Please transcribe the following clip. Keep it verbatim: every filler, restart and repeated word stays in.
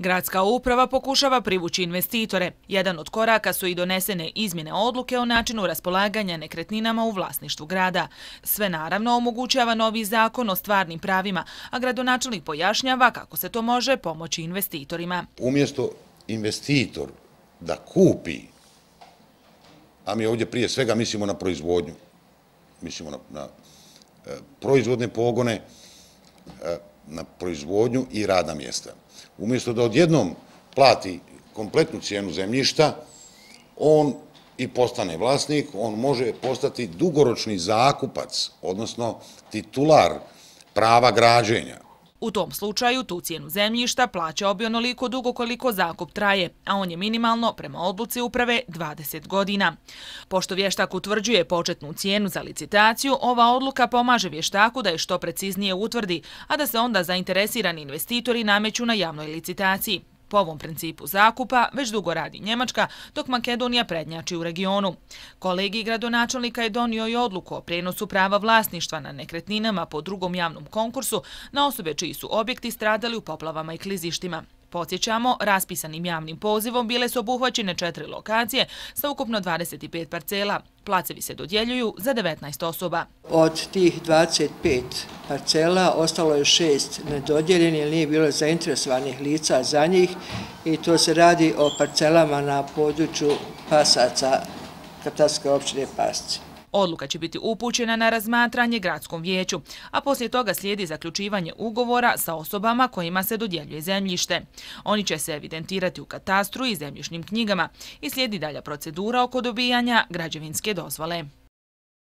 Gradska uprava pokušava privući investitore. Jedan od koraka su i donesene izmjene odluke o načinu raspolaganja nekretninama u vlasništvu grada. Sve naravno omogućava novi zakon o stvarnim pravima, a gradonačelnik pojašnjava kako se to može pomoći investitorima. Umjesto investitor da kupi, a mi ovdje prije svega mislimo na proizvodnju, mislimo na, na e, proizvodne pogone, e, na proizvodnju i radna mjesta. Umjesto da odjednom plati kompletnu cijenu zemljišta, on i postane vlasnik, on može postati dugoročni zakupac, odnosno titular prava građenja. U tom slučaju tu cijenu zemljišta plaća bi onoliko dugo koliko zakup traje, a on je minimalno, prema odluci uprave, dvadeset godina. Pošto vještak utvrđuje početnu cijenu za licitaciju, ova odluka pomaže vještaku da je što preciznije utvrdi, a da se onda zainteresirani investitori nameću na javnoj licitaciji. Po ovom principu zakupa već dugo radi Njemačka, dok Makedonija prednjači u regionu. Kolegij gradonačelnika je donio i odluku o prijenosu prava vlasništva na nekretninama po drugom javnom konkursu na osobe čiji su objekti stradali u poplavama i klizištima. Podsjećamo, raspisanim javnim pozivom bile su obuhvaćene četiri lokacije sa ukupno dvadeset pet parcela. Placevi se dodjeljuju za devetnaest osoba. Od tih dvadeset pet parcela ostalo je šest nedodjeljenih jer nije bilo zainteresovanih lica za njih i to se radi o parcelama na području Pasaca, katastarske općine Pasci. Odluka će biti upućena na razmatranje gradskom vijeću, a poslije toga slijedi zaključivanje ugovora sa osobama kojima se dodjeljuje zemljište. Oni će se evidentirati u katastru i zemljišnim knjigama i slijedi dalja procedura oko dobijanja građevinske dozvole.